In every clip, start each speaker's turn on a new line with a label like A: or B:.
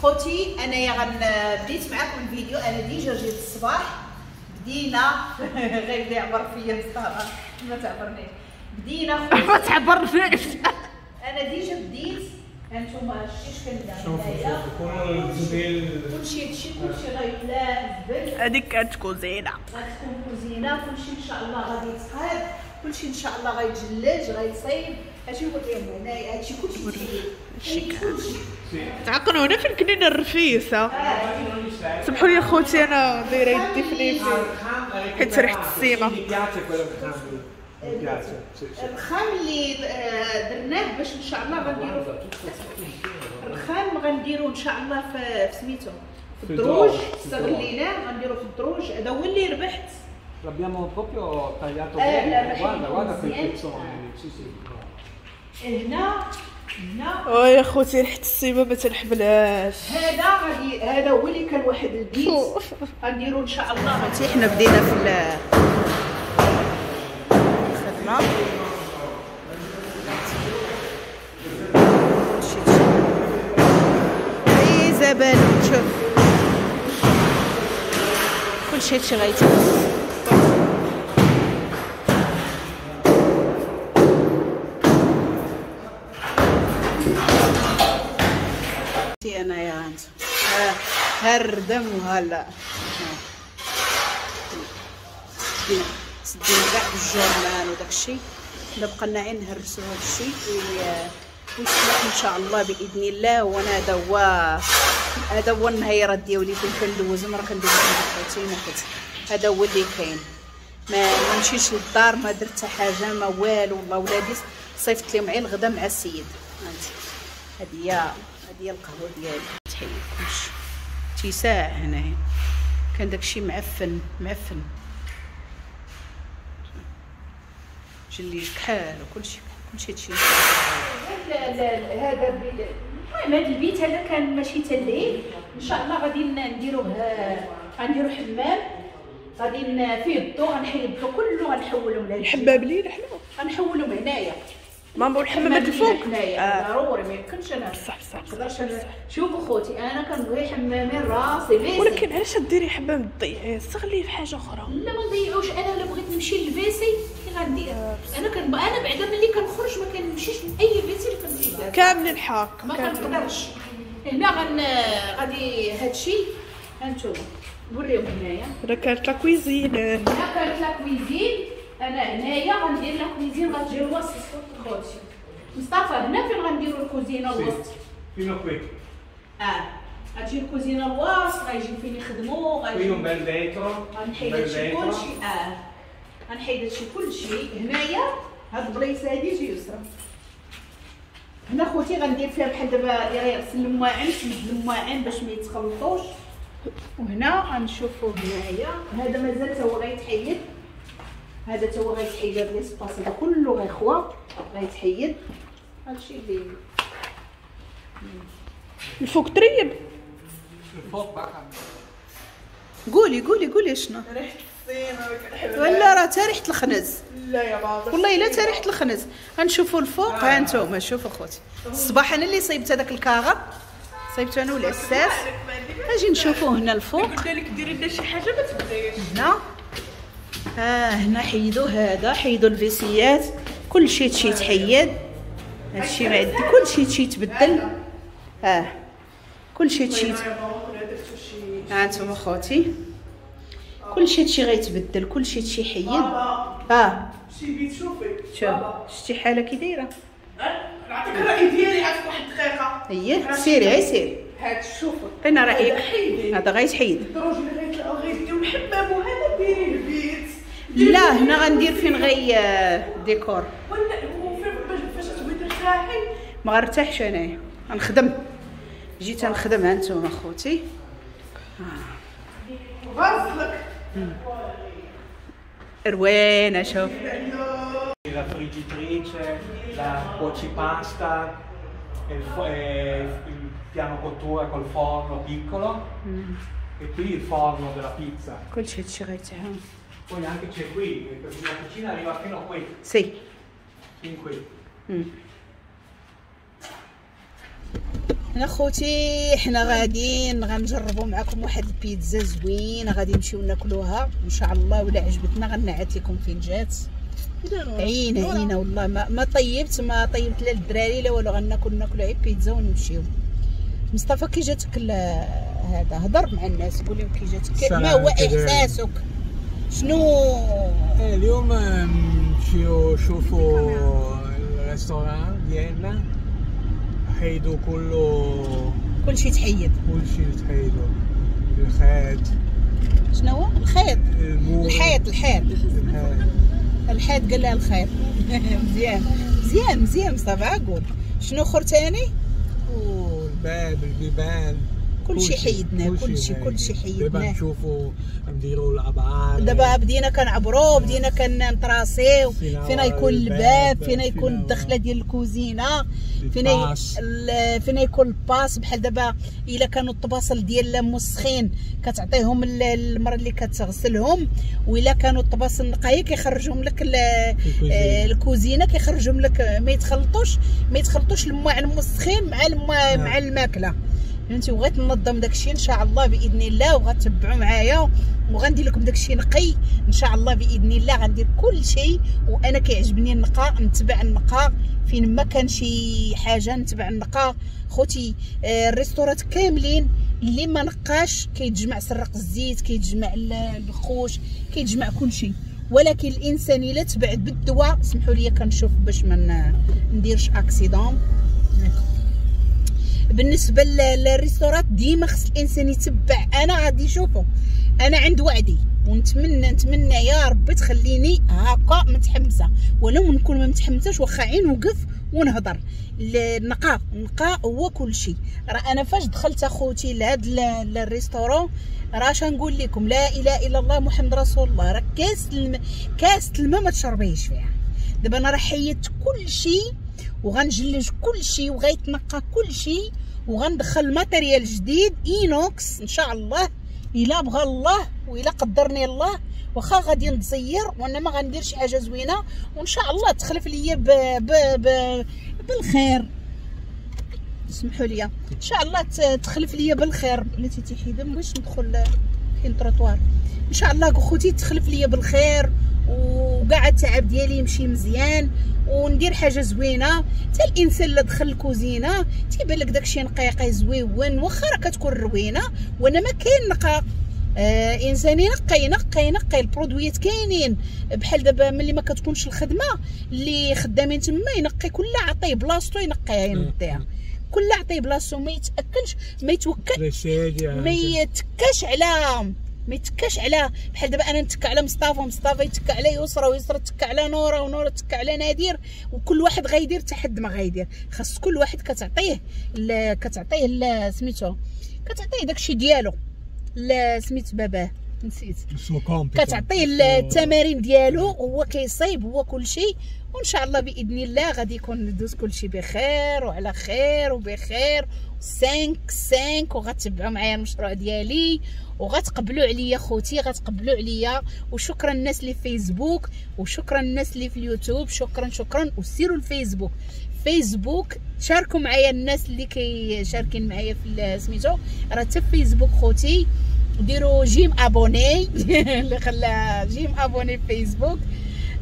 A: خوتي انايا بديت معاكم الفيديو، انا déjà جيت الصباح بدينا غير يعبر فيا مصطفى ما تعبرنيش، بدينا
B: ما تعبرنيش.
A: انا déjà بديت، هانتوما شتي اش كندير هنايا، كلشي هادشي كلشي غيتلاح زبل.
B: هذيك كانت كوزينه،
A: غتكون كوزينه، كلشي ان شاء الله غادي يتقاد، كلشي ان شاء الله غيتجلج غيتصايب. هادشي قلت لهم هنايا، هادشي كلشي
B: تعقلوا هنا فين كنينا الرفيسه. سمحوا لي خوتي انا دايرة يدي في نيفي حيت ريحه السيمه.
A: الرخام اللي درناه باش ان شاء الله غنديرو الرخام، غنديرو ان شاء الله في سميتو في الدروج، استغليناه غنديرو في الدروج. هذا هو اللي ربحت.
C: L'abbiamo proprio tagliato bene, guarda, guarda quei pezzoni, sì sì.
A: هنا هنا
B: ويا خوتي ريحه السيمه ما تنحملهاش.
A: هذا غادي، هذا هو اللي كان واحد البيت غنديرو ان شاء الله. خوتي حنا بدينا في الخدمة، اي زبالة شوف كلشي هادشي غيتهز. انايا ها الردم وهلا سدينا كاع بالجورنال وداكشي. دابا بقى لنا عين نهرسو هادشي ويصلح ان شاء الله باذن الله. وانا هذا هو النهيرات ديالي فين كندوزهم، راه كندوز عند خوتي ما هذا هو اللي كاين. ما مشيتش للدار، ما درت حتى حاجة ما والو. والله ولادي صيفط لهم عين الغدا مع السيد. هذه هي القهوة ديالي. تحيد كلشي تيساع هنايا، كان داكشي معفن معفن، جليج كحال وكلشي كلشي هادشي. هذا المهم هذا البيت هذا كان ماشي حتى الليل ان شاء الله غادي نديروه، غنديرو حمام غادي فيه الضو، غنحيد الضو كله غنحولهم لهاد
B: الحمام لينا حنا
A: غنحولهم هنايا.
B: ماما الحمامات الفوق
A: ضروري، ما يمكنش انا
B: بصح بصح
A: نقدرش انا. شوفوا خوتي انا كنبغي حمامين راسي WC،
B: ولكن علاش ديري حمام تضيعيه؟ استغليه في حاجة اخرى.
A: لا ما نضيعوش، انا الا بغيت نمشي لل WC كي غندير؟ انا انا بعدا ملي كنخرج ما كنمشيش لاي WC اللي كنمشي لها
B: كامل الحق
A: ما كنقدرش. هنا غادي هادشي هانتوما نوريهم هنايا.
B: هنا كانت la cuisine،
A: هنا كانت la cuisine. انا هنايا غندير la cuisine غتجي الوسط خوتي مصطفى. هنا فين غنديرو الكوزينة الوسط؟
C: fino qui.
A: غتجي الكوزينة الوسط، غيجيو فين يخدمو،
C: غيجي un bel vetro،
A: غنحيد هادشي كلشي. غنحيد هادشي كلشي هنايا. هاد البليصه هادي جي يسرى هنا خوتي، غندير فيها بحال دابا اللي غيغسل المواعن، تمد المواعن باش ما يتخلطوش. وهنا غنشوفو هنايا هذا مازال تا هو غيتحيد، هذا تا هو غيتحيد. هذا l'espace هذا كله غيخوى غيتحيد. هادشي اللي
B: الفوق تريب
C: الفوق باقا.
A: قولي قولي قولي شنو
B: ريحه السيمه ما كنحملهاش.
A: ولا راه تا ريحه الخنز.
B: لا يا بابا
A: والله الا تا ريحه الخنز. غنشوفوا الفوق. ها انتم شوفوا خوتي الصباح انا اللي صايبت هذاك الكاغط، صايبته انا والعساس. اجي نشوفوا هنا الفوق.
B: قلت لك ديري لنا شي حاجة ما تبغيش.
A: هنا هنا حيدوا هذا، حيدوا الفيسيات، كلشي هادشي يتحيد، هادشي ما عندي كلشي هادشي يتبدل. كلشي هادشي. ها انتم خوتي كلشي هادشي غيتبدل، كلشي هادشي يحيد.
B: شي بيت شوفي
A: شوف شتي حاله كي دايرة.
B: نعطيك الراي ديالي عاد واحد الدقيقة.
A: اييه سيري غير سيري.
B: هاد شوفي
A: عطينا رايك. هذا غيتحيد.
B: الدروج اللي غيطلعوا غيديو الحمام وهذا ديري البيت.
A: لا هنا غندير فين غي ديكور.
B: ولا فاش تبغي ترتاحي؟
A: ما غنرتاحش انايا، غنخدم. جيت نخدم. ها انتم اخوتي
B: غاسلك
A: روينه. شوف
C: la friggitrice, la cuocipasta, il piano cottura col forno piccolo e qui il forno della pizza.
A: كلشي هادشي غيتعاون.
C: Poi anche c'è qui, perché la cucina arriva fino a qui.
A: Sì.
C: Fin qui.
A: انا خوتي حنا غاديين غنجربوا معكم واحد البيتزا زوينة، غادي نمشيو ناكلوها ان شاء الله، ولا عجبتنا غنعت لكم فين جات. عينه عينه والله ما طيبت، ما طيبت لا للدراري لا والو، غناكل غير بيتزا ونمشيو. مصطفى كي جاتك هذا؟ هضر مع الناس قول لهم كي جاتك، ما هو احساسك؟ شنو
C: اليوم نمشيو نشوفو ال restaurant ديالنا، حيدو كله،
A: كلشي تحيد،
C: كلشي تحيدو، الخيط.
A: شنو هو الخيط؟ الحيط، الحيط الحيط، قال لها الخيط. مزيان مزيان مزيان مصطفى. قول شنو اخر ثاني؟
C: والباب، البيبان،
A: كلشي حيدناه، كلشي كلشي حيدناه.
C: دابا نشوفوا نديروا الابعاد،
A: دابا بدينا كنعبروا، بدينا كنطراسيو فينا يكون الباب، فينا يكون الدخلة ديال الكوزينة، فينا فينا يكون ال passe. بحال دابا الا كانوا الطباصل ديال موسخين كتعطيهم المرة اللي كتغسلهم، والا كانوا الطباصل نقايه كيخرجهم لك الكوزينة، كيخرجهم لك، ما يتخلطوش، ما يتخلطوش الماء الموسخين مع الماء مع الماكلة، فهمتي؟ وغيت ننظم داكشي ان شاء الله باذن الله، وغتبعوا معايا وغندير لكم داكشي نقي ان شاء الله باذن الله. غندير كل شيء، وانا كيعجبني النقاء، نتبع النقاء فين ما كان شي حاجة نتبع النقاء. خوتي الريستورات كاملين اللي ما نقاش كيتجمع سرق الزيت، كيتجمع البخوش، كيتجمع كل شيء. ولكن الانسان الا تبع بالدواء، سمحوا لي كنشوف باش ما نديرش accident. بالنسبة للريستورات ديما خص الانسان يتبع. انا غادي نشوفو، انا عند وعدي، ونتمنى نتمنى يا ربي تخليني هكا متحمسة، ولو نكون ما متحمساش واخا عين وقف ونهضر. النقاء، النقاء هو كل شيء. راه انا فاش دخلت اخوتي لهاد ال restaurant، راه اش نقول لكم، لا اله الا الله محمد رسول الله، راه كاس كاس الماء ما تشربيش فيها. دابا انا راه حيدت كل شيء، وغنجلج كل شيء، وغيتنقى كل شيء، وغندخل matériel جديد inox ان شاء الله الا بغى الله والا قدرني الله. واخا غادي نتزير وانا ما غندير شي حاجة زوينة، وان شاء الله تخلف ليا ب ب ب بالخير. سمحوا لي، ان شاء الله تخلف ليا بالخير. بلاتي تيحيد باش ندخل كاين تروطوار. ان شاء الله خوتي تخلف ليا بالخير، وكاع التعب ديالي يمشي مزيان، وندير حاجة زوينة. حتى الانسان اللي دخل الكوزينة تيبان لك داكشي نقيقي زويون، واخا راه كتكون روينه وانا ما كاين نقا. انسان ينقي ينقي ينقي، البرودويات كاينين. بحال دابا ملي ما كتكونش الخدمة اللي خدامين تما ينقي كل عطية بلاصتو، ينقيها ينضيها، كل عطية بلاصتو، ما يتاكلش، ما يتوكل، ما يتكاش على، ما يتكاش على. بحال دابا انا نتكا على مصطفى، ومصطفى يتكا على يسرى، ويسرى تكا على نوره، ونوره تكا على نادر، وكل واحد غيدير حتى حد ما غيدير. خاص كل واحد كتعطيه كتعطيه سميتو، كتعطيه داكشي ديالو، سميت باباه نسيت، كتعطيه التمارين ديالو، هو كيصايب هو كل شيء. وان شاء الله باذن الله غادي يكون ندوز كل شيء بخير وعلى خير وبخير. 5 5 وغتبعوا معايا المشروع ديالي، وغتقبلوا عليا خوتي، غتقبلوا عليا. وشكرا الناس اللي في فيسبوك، وشكرا الناس اللي في اليوتيوب، شكرا شكرا. وسيروا الفيسبوك، فيسبوك شاركوا معايا الناس اللي كيشاركين معايا في سميتو، راه حتى في فيسبوك خوتي ديروا j'aime abonner اللي خلى j'aime abonner في فيسبوك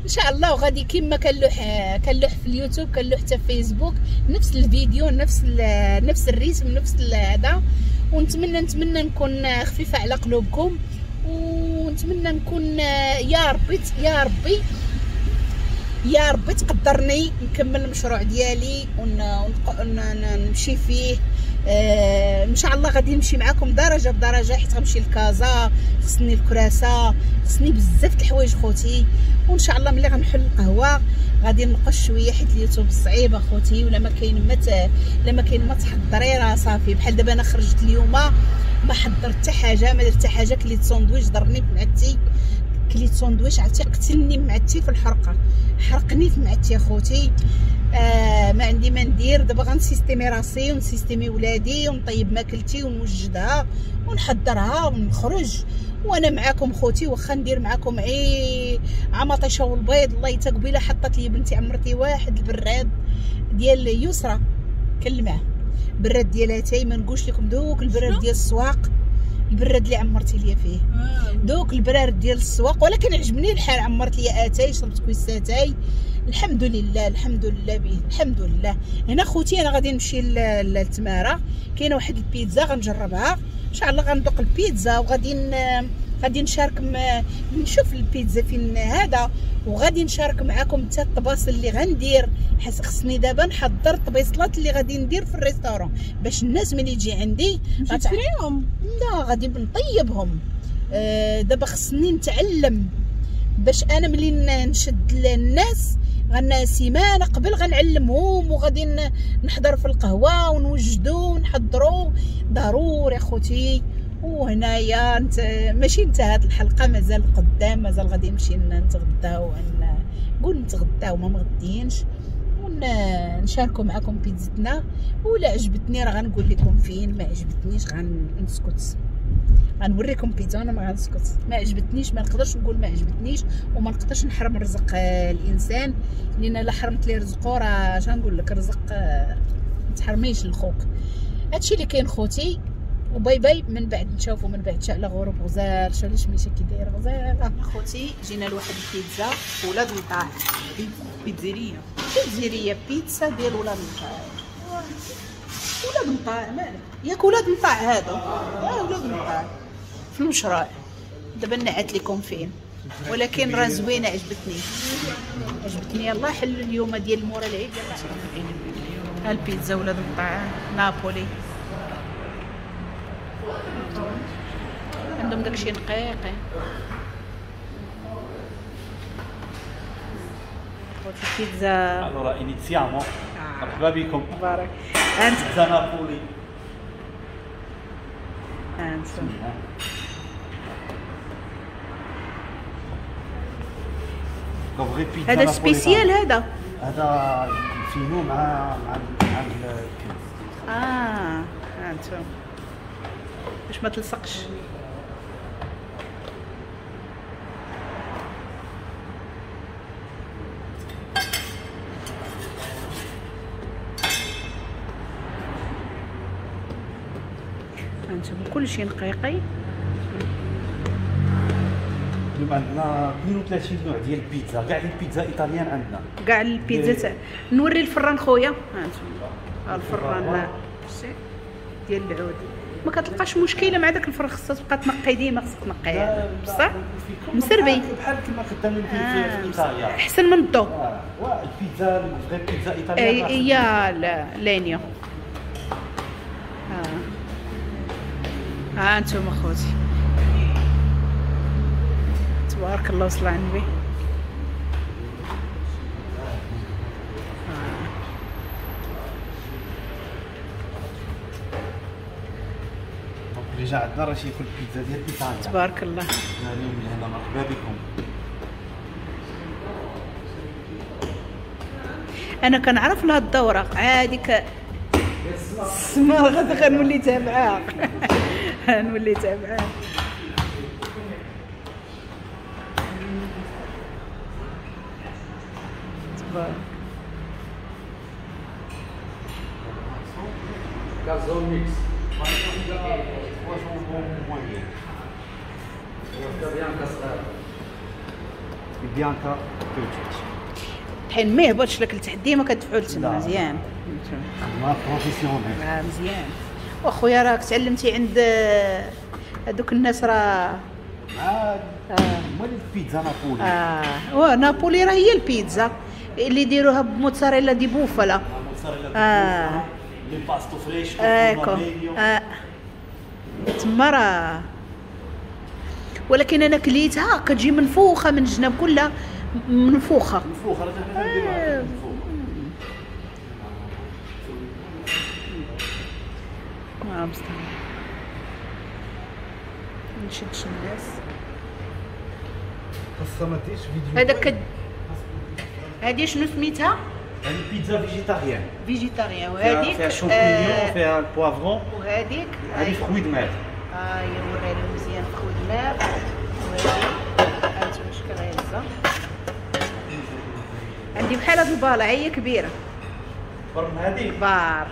A: ان شاء الله. وغادي كما كنلوح كنلوح في اليوتيوب كنلوح حتى في فيسبوك، نفس الفيديو، نفس نفس ال rythme، نفس هذا. ونتمنى نتمنى نكون خفيفة على قلوبكم، ونتمنى نكون يا ربي يا ربي يا ربي تقدرني نكمل المشروع ديالي ونمشي فيه. ان شاء الله غادي نمشي معكم درجه بدرجة، حيت غنمشي لكازا، خصني الكراسة، خصني بزاف د الحوايج خوتي. وان شاء الله ملي غنحل القهوة غادي نقص شوية، حيت اليوتيوب صعيب اخوتي، ولا ما كاين ما لا ما كاين ما تحضري راه صافي. بحال دابا انا خرجت اليوم ما حضرت حتى حاجة، ما درت حتى حاجة، كليت ساندويتش ضرني في معدتي، كليت ساندويتش عرفتي قتلني معدتي في الحرقة، حرقني في معدتي اخوتي. ما عندي ما ندير دابا، غنسيستيمي راسي ونسيستيمي ولادي ونطيب ماكلتي ونوجدها ونحضرها ونخرج وانا معاكم خوتي. واخا ندير معاكم عي عمطيشه والبيض، الله يتا قبيلة حطت لي بنتي عمرتي واحد البراد ديال يسرى كلمة، براد ديال اتاي، ما نقولش لكم دوك البراد ديال السواق، البراد اللي عمرتي ليا فيه دوك البراد ديال السواق، ولكن عجبني الحال، عمرت ليا اتاي، شربت كويس اتاي، الحمد لله الحمد لله به الحمد لله. هنا خوتي انا غادي نمشي للتماره، كاينه واحد البيتزا غنجربها ان شاء الله، غندوق البيتزا وغادي غادي نشارك نشوف البيتزا فين هذا، وغادي نشارك معكم حتى الطباصل اللي غندير، حيت خصني دابا نحضر الطبيصلات اللي غادي ندير في ال restaurant باش الناس ملي تجي عندي
B: تشريهم.
A: لا غادي نطيبهم. دابا خصني نتعلم باش انا ملي نشد الناس غنا سيمانه قبل غنعلمهم، وغادي نحضر في القهوة ونوجدو ونحضرو ضروري اخوتي. وهنايا ماشي انتهت الحلقة، مازال قدام، مازال غادي نمشي نتغداو، نقول نتغداو ما مغدينش، ونشاركوا معكم بيتزتنا. ولا عجبتني راه غنقول لكم فين، ما عجبتنيش غنسكت، غنوريكم بيتزا انا ما غنسكت. ما عجبتنيش ما نقدرش نقول ما عجبتنيش، وما نقدرش نحرم رزق الانسان، لان لا حرمت ليه رزقو راه اش غنقول لك، رزق ما تحرميش لخوك. هادشي اللي كاين خوتي، و bye bye. من بعد نشوفوا من بعد على غروب غزال، شو علاش مشى كي داير غزال. خوتي جينا لواحد البيتزا ولاد مطاع،
B: pizzeria،
A: pizzeria بيتزا ديال ولاد مطاع، ولاد مطاع مالك ياك، ولاد مطاع هادو، ولاد مطاع في المشروع. دابا نعت لكم فين، ولكن راه زوينة، عجبتني عجبتني. يلاه حلوا اليوم ديال مورا العيد، يلاه ها البيتزا ولاد مطاع نابولي، عندهم داكشي نقيقي. بيتزا.
C: Allora iniziamo. مرحبا بكم.
A: مبارك.
C: بيتزا نابولي.
A: انت هذا spécial، هذا
C: هذا فينو مع مع الكنز.
A: انتم باش ما تلصقش. انتم كلشي نقيقي.
C: اليوم عندنا 32 نوع ديال البيتزا، كاع les pizzas italiennes عندنا،
A: كاع البيتزا. نوري الفران خويا، ها انتم الفران ديال العود، ما كتلقاش مشكلة مع داك الفران، خصها تبقى تنقي ديما، خصك تنقية بصح مسربي
C: بحال كما خدامين في ايطاليا،
A: احسن من الضو.
C: البيتزا غير بيتزا ايطاليا
A: هي legno. ها انتم اخوتي تبارك الله وصل على النبي.
C: اللي جا عندنا راه تياكل البيتزا ديال ايطاليا
A: تبارك الله.
C: اليوم من هنا مرحبا بكم.
A: انا كنعرف لهاد الدورة عادي السما غادي غنولي تابعاها، نولي تابعاها. تبارك.
C: بيانكا
A: الطحين ما يهبطش لك لتحت، ديما كتدفعوا لتما مزيان.
C: خدمة professionnelle.
A: مزيان. واخويا راك تعلمتي عند هذوك الناس راه
C: هما البيتزا نابولي.
A: نابولي راه هي البيتزا اللي يديروها ب mozzarella di bufala.
C: mozzarella di bufala l'impasto fresco.
A: ecco تما راه، ولكن انا كليتها كتجي منفوخه من الجناب كلها منفوخه.
C: منفوخه راه حنا كنديروها منفوخه.
A: بصح ما نشدش الناس.
C: خاصها ما ديرش فيديو.
A: هذاك هادي شنو سميتها؟
C: هادي بيتزا végétarienne.
A: végétarienne. وهاديك
C: فيها champignons، فيها ال poivron،
A: وهاديك
C: هادي fruits de mer.
A: هي نوريها لهم مزيان fruits de mer. وهادي هانتوما اش كغيهزها. عندي بحال هاد الباله هي كبيرة.
C: كبر من هادي؟
A: كبار.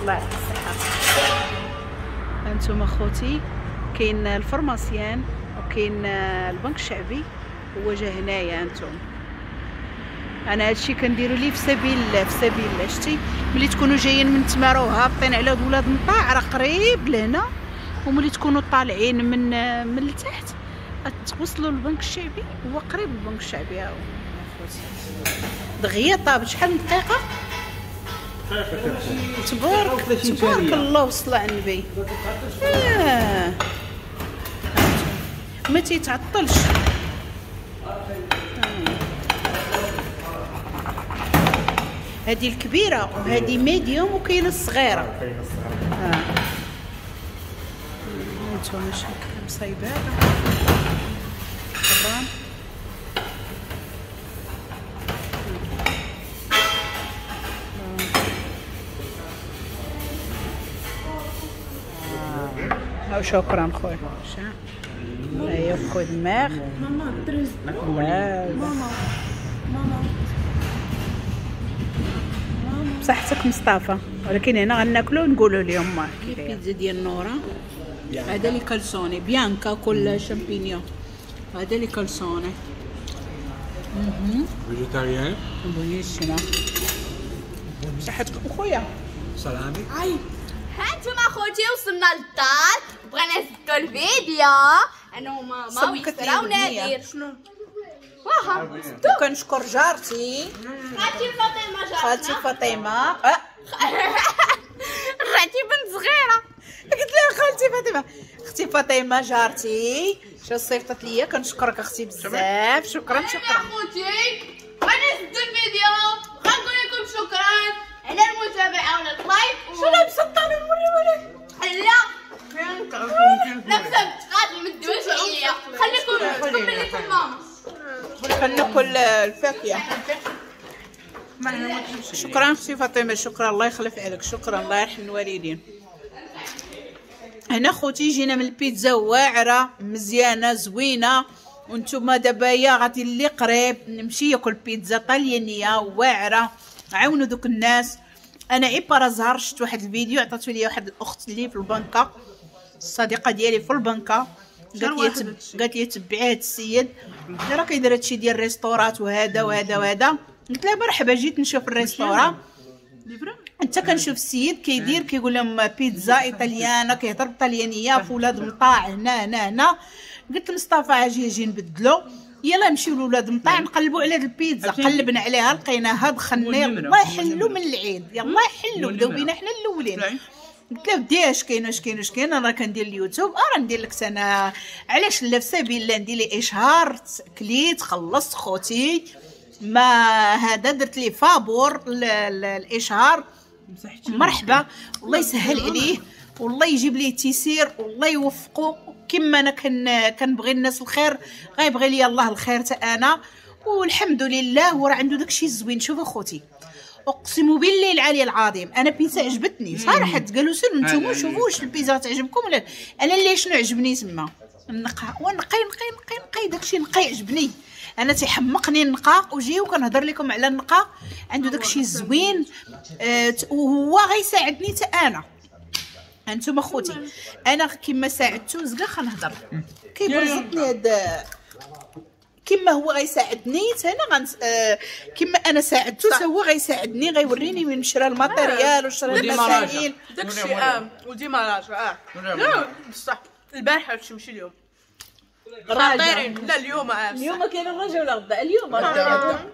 A: الله يعطيك الصحة. انتم اخوتي كاين ال pharmacien وكاين البنك الشعبي هو جا هنايا. انتم انا هادشي كنديرو ليه في سبيل الله، في سبيل الله. شتي ملي تكونوا جايين من تمارا وهابطين على ولاد مطاع راه قريب لهنا، وملي تكونوا طالعين من التحت توصلوا للبنك الشعبي، هو قريب البنك الشعبي. ها هو اخوتي دغيا طاب. شحال من دقيقة؟ تبارك تبارك الله وصلى على النبي. ما تيتعطلش. هذه الكبيرة وهذه médium وكاينه الصغيرة.
D: كاينه الصغيرة.
A: انتم شكل مصايبه طبعا. شكرا خويا. هيا خذ ماغ.
B: ماما ترز. ماما ماما
A: بصحتك مصطفى، ولكن هنا غناكلو ونقولوا لهم بيتزا ديال نورا. هذا les calzone bianca con champignon، هذا les calzone
C: végétarien.
A: buonissimo. بصحتك خويا.
C: سلامي.
A: اي
E: هانتوما خوتي وصلنا للدار، بغينا نسدو الفيديو انا وماما ويسرا ونادر.
A: شنو
E: واخا
A: كنشكر جارتي
E: خالتي فاطمة. جارتنا
A: خالتي فاطمة.
E: رجعتي بنت صغيرة.
A: قلت لها خالتي فاطمة، اختي فاطمة جارتي شو صيفطت ليا. كنشكرك اختي بزاف. شكرا شكرا
E: خوتي. بغينا نسدو الفيديو، غنقول لكم شكرا على المتابعة وعلى ال like.
A: شنو لابسه الطالون وريوها لك.
E: لا لابسه بتقاتل ما تدويش عليا. خليكم تكمل لكم ماما.
A: كناكل الفاكهة. شكرا اختي فاطمة، شكرا الله يخلف عليك، شكرا الله يرحم الوالدين. هنا خوتي جينا من البيتزا واعرة مزيانه زوينة، وانتم دابا يا غادي اللي قريب نمشي ياكل بيتزا طليانيه واعرة. عاونوا دوك الناس. انا غي par hasard شفت واحد الفيديو عطاتو لي واحد الاخت اللي في البنكه، الصديقة ديالي في البنكه، قالت لي تبعي هاد السيد راه كيدير هادشي ديال ال restaurant وهذا وهذا وهذا. قلت لها مرحبا، جيت نشوف ال restaurant. انت كنشوف السيد كيدير كيقول لهم بيتزا italiana، كيهضر بالطليانيه في ولاد مطاع هنا هنا هنا. قلت لمصطفى اجي اجي نبدلو، يلا نمشيو لولاد مطاع نقلبوا على هاد البيتزا. قلبنا عليها لقيناها، دخلنا الله يحلو من العيد، يلا يحلو بداو بينا حنا الاولين. قلت له ودي اش كاين اش كاين اش كاين، انا كندير اليوتيوب راه ندير لك انا علاش لا، في سبيل الله ندير لي اشهار. كليت خلصت خوتي ما هذا، درت لي فابور الاشهار. مرحبا، الله يسهل عليه والله يجيب ليه التيسير والله يوفقه. كما انا كنبغي الناس الخير غيبغي لي الله الخير حتى انا، والحمد لله. وراه عنده داكشي الزوين. شوفوا خوتي اقسم بالله العلي العظيم انا بيتزا عجبتني صراحة. قالوا سيروا نتوما شوفوا واش البيتزا تعجبكم ولا انا. اللي شنو عجبني تما النقا، ونقي نقي نقي نقي داكشي نقي عجبني انا، تيحمقني النقا. وجي وكنهضر لكم على النقا، عنده داكشي زوين. وهو غيساعدني حتى انا. انتم خوتي انا كما ساعدتو زكا خنهضر كيبرزطني هاد، كما هو غيساعدني حتى انا كما انا ساعدتو حتى هو غيساعدني، غيوريني وين شرا ال matériel وشرا المسائل
B: داكشي. وديما راجع. لا بصح البارحة هادشي ماشي اليوم. خطيرين. لا اليوم اليوم
A: كاين الرجا ولا غدا؟ اليوم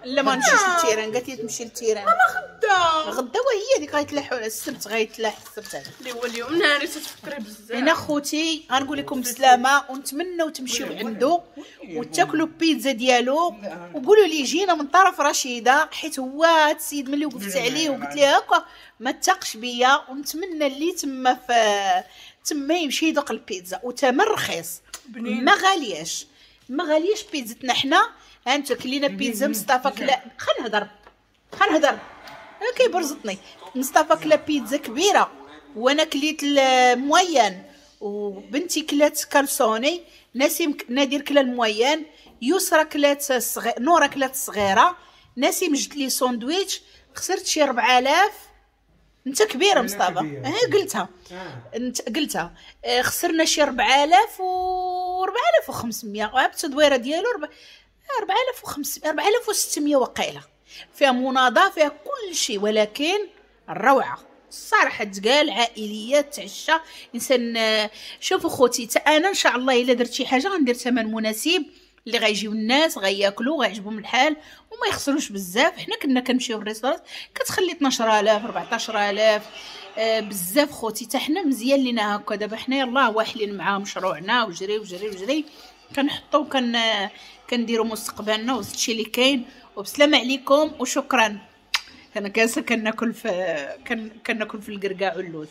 A: لا ما نمشيش لل terrain. قالت لي تمشي لل terrain.
B: ماما غدا
A: غدا وهي هذيك غيتلاحوا على السبت، غيتلاح السبت هذا
B: اللي هو اليوم. ناري تتفكري بزاف.
A: هنا خوتي غنقول لكم بسلامه، ونتمنوا تمشيو عنده وتاكلوا بيتزا ديالو، وقولوا لي جينا من طرف رشيده، حيت هو هاد السيد ملي وقفت عليه وقلت ليه هكا ما تاقش بيا. ونتمنى اللي تما في تما يمشي يذوق البيتزا، وثمن رخيص ما غالياش. ما غاليش بيتزتنا حنا. ها انت كلينا بيتزا مصطفى كلا، خلينا نهضر خلينا نهضر، كيبرزطني. مصطفى كلا بيتزا كبيرة وانا كليت ال moyenne، وبنتي كلات calzone، نسيم نادر كلا ال moyenne، يسرا كلات الصغير، نورا كلات الصغيرة، نسيم جبت لي ساندويتش. خسرت شي 4000. انت كبيرة مصطفى، ها قلتها انت قلتها. خسرنا شي 4000 و 4500 بالتدويره ديالو 4500 4600 وقيله. فيها مناضه، فيها كل شيء، ولكن الروعة الصراحة تقال. عائلية تعشى انسان. شوفوا خوتي، تا انا ان شاء الله الا درت شي حاجة غندير ثمن مناسب اللي غيجيو الناس غياكلوا غيعجبهم الحال وما يخسروش بزاف. حنا كنا كنمشيو لل restaurant كتخلي 12000 14000 بزاف خوتي. حتى حنا مزيان لينا هكا. دابا حنا يلاه واحلين مع مشروعنا وجري وجري وجري كنحطو كنديرو مستقبلنا وهادشي اللي كاين. وبسلامه عليكم وشكرا. انا جالسة كناكل في كناكل في الكركاع واللوز.